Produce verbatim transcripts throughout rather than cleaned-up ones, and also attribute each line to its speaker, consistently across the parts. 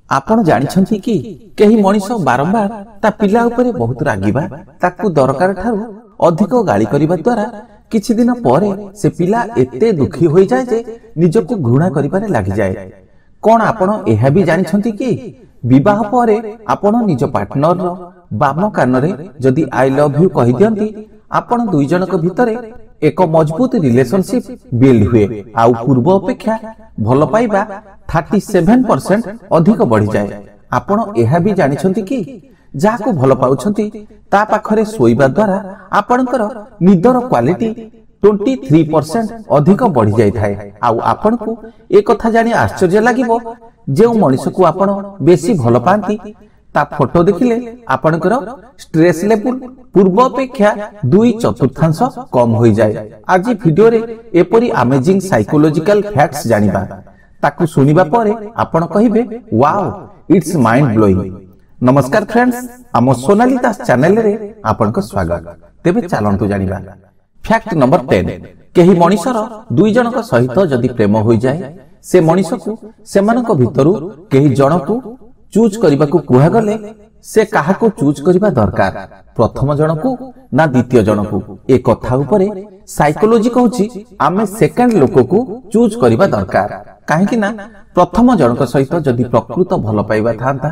Speaker 1: ଆପଣ ଜାଣିଛନ୍ତି କି କେହି ମଣିଷ ବାରମ୍ବାର ତା ପିଲା ଉପରେ ବହୁତ ରାଗିବା, ତାକୁ ଦରକାର ଠାରୁ ଅଧିକ ଗାଳି କରିବା ଦ୍ୱାରା କିଛି ଦିନ ପରେ ସେ ପିଲା ଏତେ ଦୁଃଖୀ ହୋଇଯାଏ ଯେ ନିଜକୁ ଘୃଣା କରିବାରେ ଲାଗିଯାଏ। କଣ ଆପଣ ଏହା ବି ଜାଣିଛନ୍ତି କି ବିବାହ ପରେ ଆପଣ ନିଜ ପାର୍ଟନରର ବାମ କାନରେ ଯଦି I love you କହିଦିଅନ୍ତି, ଆପଣ ଦୁଇ ଜଣଙ୍କ ଭିତରେ ଏକ ମଜବୁତ ରିଲେସନସିପ ବିଲ୍ଡ ହୁଏ ଆଉ ପୂର୍ବ ଅପେକ୍ଷା ଭଲ ପାଇବା ଥାର୍ଟି ସେଭେନ ପରସେଣ୍ଟ ଅଧିକ ବଢିଯାଏ। ଆପଣ ଏହା ବି ଜାଣିଛନ୍ତି କି ଯାହାକୁ ଭଲ ପାଉଛନ୍ତି ତା ପାଖରେ ଶୋଇବା ଦ୍ୱାରା ଆପଣଙ୍କର ନିଦର କ୍ୱାଲିଟି ଟ୍ୱେଣ୍ଟି ଥ୍ରୀ ପରସେଣ୍ଟ ଅଧିକ ବଢି ଯାଇଥାଏ। ଆଉ ଆପଣଙ୍କୁ ଏ କଥା ଜାଣି ଆଶ୍ଚର୍ଯ୍ୟ ଲାଗିବ, ଯେଉଁ ମଣିଷକୁ ଆପଣ ବେଶୀ ଭଲ ପାଆନ୍ତି ତା ଫଟୋ ଦେଖିଲେ ଆପଣଙ୍କର ଷ୍ଟ୍ରେସ୍ ଲେବୁଲ ପୂର୍ବ ଅପେକ୍ଷା ଦୁଇ ଚତୁର୍ଥାଂଶ କମ ହୋଇଯାଏ। ଆଜି ଭିଡିଓରେ ଏପରି ଆମେଜିଂ ସାଇକୋଲୋଜିକାଲ ଫ୍ୟାକ୍ଟସ ଜାଣିବା, ତାକୁ ଶୁଣିବା ପରେ ଆପଣ କହିବେ ୱାଓ, it's mind blowing. ନମସ୍କାର ଫ୍ରେଣ୍ଡସ୍, ଆମ ସୋନାଲି ଦାସ ଚ୍ୟାନେଲରେ ଆପଣଙ୍କ ସ୍ୱାଗତ। ତେବେ ଚାଲନ୍ତୁ ଜାଣିବା ଫ୍ୟାକ୍ଟ ନମ୍ବର ଟେନ୍। କେହି ମଣିଷର ଦୁଇ ଜଣଙ୍କ ସହିତ ଯଦି ପ୍ରେମ ହୋଇଯାଏ, ସେ ମଣିଷକୁ ସେମାନଙ୍କ ଭିତରୁ କେହି ଜଣକୁ ଚୁଜ୍ କରିବାକୁ କୁହାଗଲେ ସେ କାହାକୁ ଚୁଜ୍ କରିବା ଦରକାର, ପ୍ରଥମ ଜଣକୁ ନା ଦ୍ୱିତୀୟ ଜଣକୁ? ଏ କଥା ଉପରେ ସାଇକୋଲୋଜି କହୁଛି ଆମେ ସେକେଣ୍ଡ ଲୋକକୁ ଚୁଜ୍ କରିବା ଦରକାର। କାହିଁକି ନା ପ୍ରଥମ ଜଣଙ୍କ ସହିତ ଯଦି ପ୍ରକୃତ ଭଲ ପାଇବା ଥାନ୍ତା,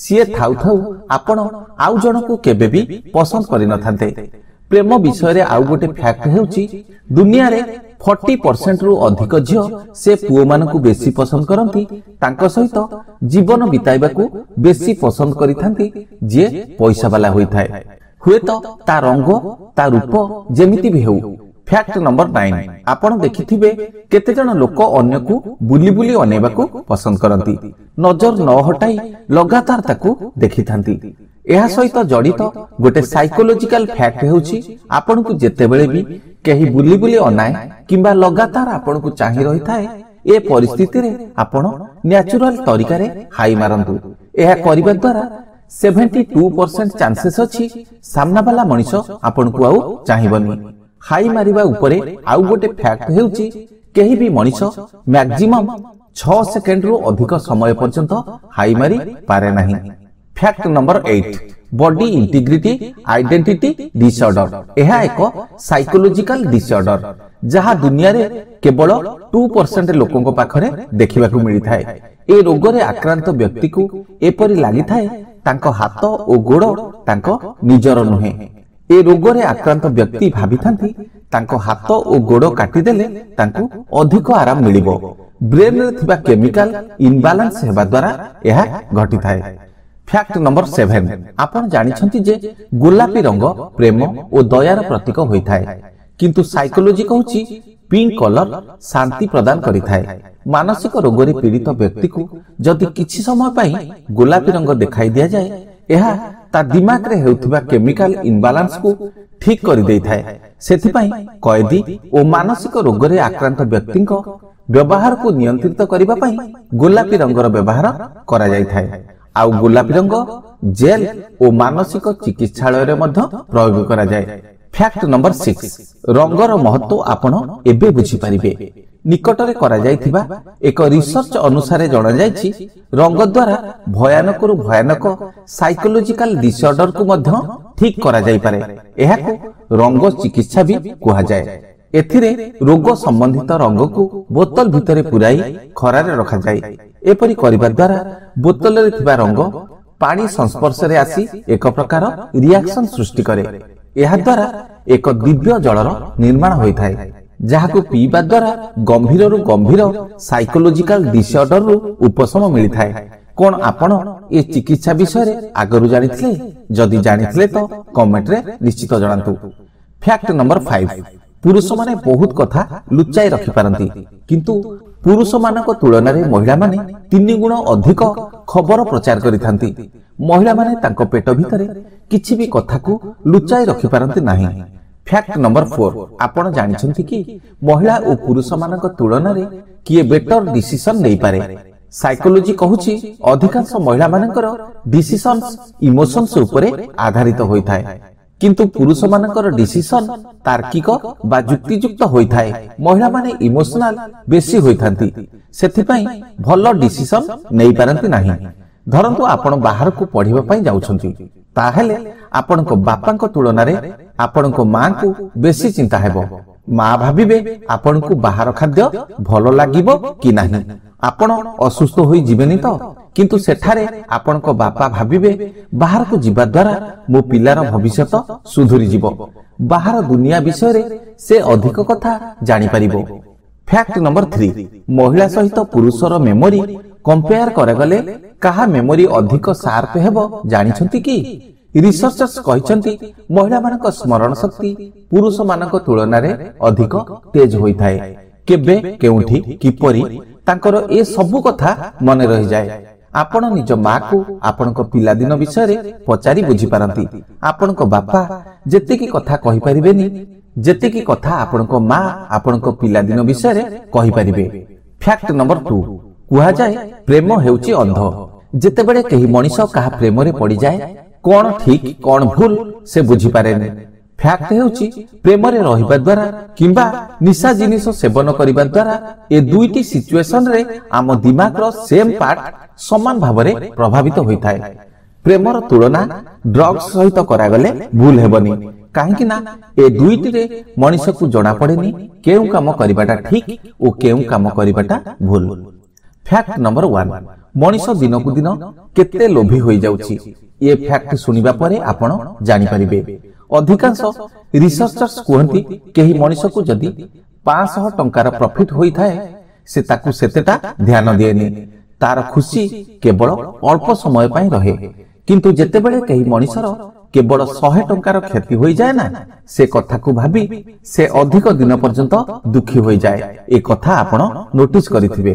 Speaker 1: ସିଏ ଥାଉ ଥାଉ ଆପଣ ଆଉ ଜଣକୁ କେବେ ବି ପସନ୍ଦ କରିନଥାନ୍ତେ। ପ୍ରେମ ବିଷୟରେ ଆଉ ଗୋଟେ ଫ୍ୟାକ୍ଟ ହେଉଛି, ଦୁନିଆରେ ଫର୍ଟି ପରସେଣ୍ଟରୁ ଅଧିକ ଝିଅ ସେ ପୁଅମାନଙ୍କୁ ବେଶୀ ପସନ୍ଦ କରନ୍ତି, ତାଙ୍କ ସହିତ ଜୀବନ ବିତାଇବାକୁ ବେଶୀ ପସନ୍ଦ କରିଥାନ୍ତି ଯିଏ ପଇସାବାଲା ହୋଇଥାଏ, ହୁଏତ ତା ରଙ୍ଗ ତା ରୂପ ଯେମିତି ବି ହେଉ। ଫ୍ୟାକ୍ଟ ନମ୍ବର ନାଇନ, ଆପଣ ଦେଖିଥିବେ କେତେଜଣ ଲୋକ ଅନ୍ୟକୁ ବୁଲି ବୁଲି ଅନେଇବାକୁ ପସନ୍ଦ କରନ୍ତି, ନଜର ନ ହଟାଇ ଲଗାତାର ତାକୁ ଦେଖିଥାନ୍ତି। ଏହା ସହିତ ଜଡ଼ିତ ଗୋଟେ ସାଇକୋଲୋଜିକାଲ ଫ୍ୟାକ୍ଟ ହେଉଛି, ଆପଣଙ୍କୁ ଯେତେବେଳେ ବି କେହି ବୁଲି ବୁଲି ଅନାଏ କିମ୍ବା ଲଗାତାର ଆପଣଙ୍କୁ ଚାହିଁ ରହିଥାଏ, ଏ ପରିସ୍ଥିତିରେ ଆପଣ ନ୍ୟାଚୁରାଲ ତରିକାରେ ହାଇ ମାରନ୍ତୁ। ଏହା କରିବା ଦ୍ୱାରା ସେଭେଣ୍ଟି ଟୁ ପରସେଣ୍ଟ ଚାନ୍ସେସ୍ ଅଛି ସାମ୍ନାବାଲା ମଣିଷ ଆପଣଙ୍କୁ ଆଉ ଚାହିଁବନି। ହାଇ ମାରିବା ଉପରେ ଆଉ ଗୋଟେ ଫ୍ୟାକ୍ଟ ହେଉଛି, କେହି ବି ମଣିଷ ମ୍ୟାକ୍ସିମମ୍ ଛଅ ସେକେଣ୍ଡରୁ ଅଧିକ ସମୟ ପର୍ଯ୍ୟନ୍ତ ହାଇ ମାରି ପାରେ ନାହିଁ। Fact number eight, body integrity identity disorder. ଏହା ଏକ ସାଇକୋଲୋଜିକାଲ ଡିସଅର୍ଡର ଯାହା ଦୁନିଆରେ କେବଳ ଟୁ ପରସେଣ୍ଟ ଲୋକଙ୍କ ପାଖରେ ଦେଖିବାକୁ ମିଳିଥାଏ। ଏ ରୋଗରେ ଆକ୍ରାନ୍ତ ବ୍ୟକ୍ତିକୁ ଏପରି ଲାଗିଥାଏ ତାଙ୍କ ହାତ ଓ ଗୋଡ଼ ତାଙ୍କ ନିଜର ନୁହେଁ। ଏ ରୋଗରେ ଆକ୍ରାନ୍ତ ବ୍ୟକ୍ତି ଭାବିଥାନ୍ତି ତାଙ୍କ ହାତ ଓ ଗୋଡ଼ କାଟିଦେଲେ ତାଙ୍କୁ ଅଧିକ ଆରାମ ମିଳିବ। ବ୍ରେନରେ ଥିବା କେମିକାଲ ଇନବାଲାନ୍ସ ହେବା ଦ୍ୱାରା ଏହା ଘଟିଥାଏ। ଫ୍ୟାକ୍ଟ ନମ୍ବର ସେଭେନ, ଆପଣ ଜାଣିଛନ୍ତି ଯେ ଗୋଲାପୀ ରଙ୍ଗ ପ୍ରେମ ଓ ଦୟାର ପ୍ରତୀକ ହୋଇଥାଏ, କିନ୍ତୁ ସାଇକୋଲୋଜି କହୁଛି ପିଙ୍କ କଲର ଶାନ୍ତି ପ୍ରଦାନ କରିଥାଏ। ମାନସିକ ରୋଗରେ ପୀଡ଼ିତ ବ୍ୟକ୍ତିକୁ ଯଦି କିଛି ସମୟ ପାଇଁ ଗୋଲାପୀ ରଙ୍ଗ ଦେଖାଇ ଦିଆଯାଏ, ଏହା ତା ଦିମାଗରେ ହେଉଥିବା କେମିକାଲ ଇନବାଲାନ୍ସକୁ ଠିକ କରିଦେଇଥାଏ। ସେଥିପାଇଁ କଏଦୀ ଓ ମାନସିକ ରୋଗରେ ଆକ୍ରାନ୍ତ ବ୍ୟକ୍ତିଙ୍କ ବ୍ୟବହାରକୁ ନିୟନ୍ତ୍ରିତ କରିବା ପାଇଁ ଗୋଲାପୀ ରଙ୍ଗର ବ୍ୟବହାର କରାଯାଇଥାଏ। ଆଉ ଗୋଲାପୀ ରଙ୍ଗ ଜେଲ୍ ଓ ମାନସିକ ଚିକିତ୍ସାଳୟରେ ମଧ୍ୟ ପ୍ରୟୋଗ କରାଯାଏ। ଫ୍ୟାକ୍ଟ ନମ୍ବର ସିକ୍ସ, ରଙ୍ଗର ମହତ୍ଵ ଆପଣ ଏବେ ବୁଝିପାରିବେ। ନିକଟରେ କରାଯାଇଥିବା ଏକ ରିସର୍ଚ୍ଚ ଅନୁସାରେ ଜଣାଯାଇଛି ରଙ୍ଗ ଦ୍ୱାରା ଭୟାନକରୁ ଭୟାନକ ସାଇକୋଲୋଜିକାଲ ଡିସଅର୍ଡରକୁ ମଧ୍ୟ ଠିକ କରାଯାଇପାରେ। ଏହାକୁ ରଙ୍ଗ ଚିକିତ୍ସା ବି କୁହାଯାଏ। ଏଥିରେ ରୋଗ ସମ୍ବନ୍ଧିତ ରଙ୍ଗକୁ ବୋତଲ ଭିତରେ ପୁରାଇ ଖରାରେ ରଖାଯାଏ। ଏପରି କରିବା ଦ୍ୱାରା ବୋତଲରେ ଥିବା ରଙ୍ଗ ପାଣି ସଂସ୍ପର୍ଶରେ ଆସି ଏକ ପ୍ରକାର ରିଆକ୍ସନ ସୃଷ୍ଟି କରେ। ଏହାଦ୍ୱାରା ଏକ ଦିବ୍ୟ ଜଳର ନିର୍ମାଣ ହୋଇଥାଏ, ଯାହାକୁ ପିଇବା ଦ୍ୱାରା ଗମ୍ଭୀରରୁ ଗମ୍ଭୀର ସାଇକୋଲୋଜିକାଲ ଡିସଅର୍ଡରରୁ ଉପଶମ ମିଳିଥାଏ। କଣ ଆପଣ ଏ ଚିକିତ୍ସା ବିଷୟରେ ଆଗରୁ ଜାଣିଥିଲେ? ଯଦି ଜାଣିଥିଲେ ତ କମେଣ୍ଟରେ ନିଶ୍ଚିତ ଜଣାନ୍ତୁ। ଫ୍ୟାକ୍ଟ ନମ୍ବର ଫାଇଭ, ପୁରୁଷମାନେ ବହୁତ କଥା ଲୁଚାଇ ରଖିପାରନ୍ତି, କିନ୍ତୁ ପୁରୁଷମାନଙ୍କ ତୁଳନାରେ ମହିଳାମାନେ ତିନି ଗୁଣ ଅଧିକ ଖବର ପ୍ରଚାର କରିଥାନ୍ତି। ମହିଳାମାନେ ତାଙ୍କ ପେଟ ଭିତରେ କିଛି ବି କଥାକୁ ଲୁଚାଇ ରଖିପାରନ୍ତି ନାହିଁ। ଫ୍ୟାକ୍ଟ ନମ୍ବର ଫୋର, ଆପଣ ଜାଣିଛନ୍ତି କି ମହିଳା ଓ ପୁରୁଷମାନଙ୍କ ତୁଳନାରେ କିଏ ବେଟର ଡିସିସନ ନେଇପାରେ? ସାଇକୋଲୋଜି କହୁଛି ଅଧିକାଂଶ ମହିଳାମାନଙ୍କର ଡିସିସନ୍ସ ଇମୋସନ୍ସ ଉପରେ ଆଧାରିତ ହୋଇଥାଏ, କିନ୍ତୁ ପୁରୁଷମାନଙ୍କର ଡିସିସନ ତାର୍କିକ ବା ଯୁକ୍ତିଯୁକ୍ତ ହୋଇଥାଏ। ମହିଳାମାନେ ଇମୋସନାଲ ବେଶୀ ହୋଇଥାନ୍ତି, ସେଥିପାଇଁ ଭଲ ଡିସିସନ ନେଇପାରନ୍ତି ନାହିଁ। ଧରନ୍ତୁ ଆପଣ ବାହାରକୁ ପଢିବା ପାଇଁ ଯାଉଛନ୍ତି, ତାହେଲେ ଆପଣଙ୍କ ବାପାଙ୍କ ତୁଳନାରେ ଆପଣଙ୍କ ମାଙ୍କୁ ବେଶୀ ଚିନ୍ତା ହେବ। ମା ଭାବିବେ ଆପଣଙ୍କୁ ବାହାର ଖାଦ୍ୟ ଭଲ ଲାଗିବ କି ନାହିଁ, ଆପଣ ଅସୁସ୍ଥ ହୋଇ ଯିବେନି ତ? କିନ୍ତୁ ସେଠାରେ ଆପଣଙ୍କ ବାପା ଭାବିବେ ବାହାରକୁ ଯିବା ଦ୍ୱାରା ମୋ ପିଲାର ଭବିଷ୍ୟତ ସୁଧୁରିଯିବ, ବାହାର ଦୁନିଆ ବିଷୟରେ ସେ ଅଧିକ କଥା ଜାଣିପାରିବ। ଫ୍ୟାକ୍ଟ ନମ୍ବର ଥ୍ରୀ, ମହିଳା ସହିତ ପୁରୁଷର ମେମୋରି କମ୍ପେୟାର କରାଗଲେ କାହା ମେମୋରି ଅଧିକ ସାର୍ପ ହେବ ଜାଣିଛନ୍ତି କି? ରିସର୍ଚର୍ସ କହିଛନ୍ତି ମହିଳାମାନଙ୍କ ସ୍ମରଣ ଶକ୍ତି ପୁରୁଷମାନଙ୍କ ତୁଳନାରେ ଅଧିକ ତେଜ ହୋଇଥାଏ। କେବେ, କେଉଁଠି, କିପରି ତାଙ୍କର ଏ ସବୁ କଥା ମନେ ରହିଯାଏ। ଆପଣ ନିଜ ମାକୁ ଆପଣଙ୍କ ପିଲାଦିନ ବିଷୟରେ ପଚାରି ବୁଝିପାରନ୍ତି। ଆପଣଙ୍କ ବାପା ଯେତିକି କଥା କହିପାରିବେନି ଯେତିକି କଥା ଆପଣଙ୍କ ମା ଆପଣଙ୍କ ପିଲାଦିନ ବିଷୟରେ କହିପାରିବେ। ଫ୍ୟାକ୍ଟ ନମ୍ବର ଟୁ, କୁହାଯାଏ ପ୍ରେମ ହେଉଛି ଅନ୍ଧ। ଯେତେବେଳେ କେହି ମଣିଷ କାହା ପ୍ରେମରେ ପଡ଼ିଯାଏ, କଣ ଠିକ କଣ ଭୁଲ ସେ ବୁଝିପାରେନି। ଫ୍ୟାକ୍ଟ ହେଉଛି ପ୍ରେମରେ ରହିବା ଦ୍ୱାରା କିମ୍ବା ନିଶା ଜିନିଷ ସେବନ କରିବା ଦ୍ୱାରା ଏ ଦୁଇଟି ସିଚୁଏସନରେ ଆମ ଦିମାଗର ସେମ୍ ପାର୍ଟ ସମାନ ଭାବରେ ପ୍ରଭାବିତ ହୋଇଥାଏ। ପ୍ରେମର ତୁଳନା ଡ୍ରଗ୍ସ ସହିତ କରାଗଲେ ଭୁଲ ହେବନି, କାହିଁକି ନା ଏ ଦୁଇଟିରେ ମଣିଷକୁ ଜଣା ପଡେନି କେଉଁ କାମ କରିବାଟା ଠିକ ଓ କେଉଁ କାମ କରିବାଟା ଭୁଲ। ଫ୍ୟାକ୍ଟ ନମ୍ବର ୱାନ୍, ମଣିଷ ଦିନକୁ ଦିନ କେତେ ଲୋଭୀ ହୋଇଯାଉଛି ଏ ଫ୍ୟାକ୍ଟ ଶୁଣିବା ପରେ ଆପଣ ଜାଣିପାରିବେ। ଅଧିକାଂଶ ରିସର୍ଚର୍ସ କୁହନ୍ତି କେହି ମଣିଷକୁ ଯଦି ପାଞ୍ଚଶହ ଟଙ୍କାର ପ୍ରଫିଟ ହୋଇଥାଏ, ସେ ତାକୁ ସେତେଟା ଧ୍ୟାନ ଦିଏନି, ତାର ଖୁସି କେବଳ ଅଳ୍ପ ସମୟ ପାଇଁ ରହେ। କିନ୍ତୁ ଯେତେବେଳେ କେହି ମଣିଷର କେବଳ ଶହେ ଟଙ୍କାର କ୍ଷତି ହୋଇଯାଏ ନା, ସେ କଥାକୁ ଭାବି ସେ ଅଧିକ ଦିନ ପର୍ଯ୍ୟନ୍ତ ଦୁଃଖୀ ହୋଇଯାଏ। ଏ କଥା ଆପଣ ନୋଟିସ କରିଥିବେ।